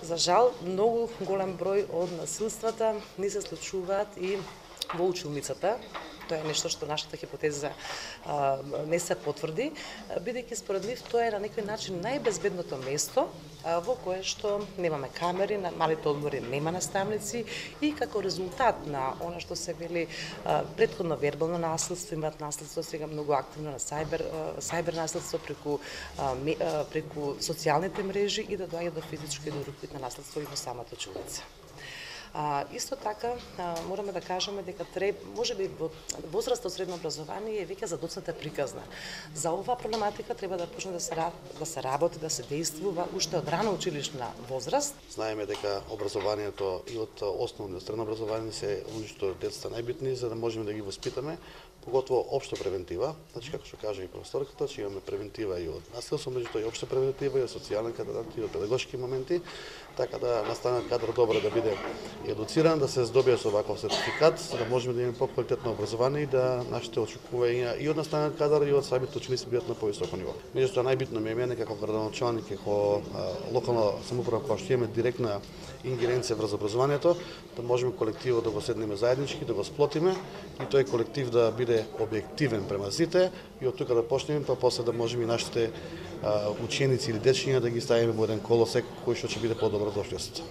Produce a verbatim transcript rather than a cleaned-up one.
За жал, многу голем број од насилствата ни се случуваат и во училницата. Тоа е нешто што нашата хипотеза а, не се потврди, бидејќи според нив тоа е на некој начин најбезбедното место а, во кое што немаме камери, на малите одмори нема наставници и како резултат на она што се вели а, претходно вербално насилство, имаат насилство сега многу активно на сајбер, а, сајбер насилство преку, а, ме, а, преку социјалните мрежи и да доаѓа до физичко и до рупитно насилство и во самата училница. А, исто така, а, мораме да кажеме дека треб, може би во возраст од средно образование е веќе задоцната приказна. За оваа проблематика треба да почне да се, да се работи, да се действува уште од рано училишна возраст. Знаеме дека образованието и од основно до средно образование се оништо децата најбитни за да можеме да ги воспитаме, поготово општа превентива. Значи како што кажа и професорката, че имаме превентива и од насилство, меѓутоа и општа превентива и од социјален кадрат и од педагошки моменти, така да настанет кадар добро да биде едуциран, да се здобие со ваков сертификат, за да можеме да имаме поквалитетно образование и да нашите очекувања и од настанет кадар и од самите ученици бидат на повисоко ниво. Меѓутоа најбитно ми е мене како градоначалник и како локална самоуправа која што имаме директна ингеренција врз образованието, да можеме колективо да го седнеме заеднички, да го сплотиме и тој колектив да биде објективен према сите и од тука да почнеме, па после да можеме и нашите ученици или дечиња да ги ставиме во еден колосек кој што ќе биде подобро дошлест.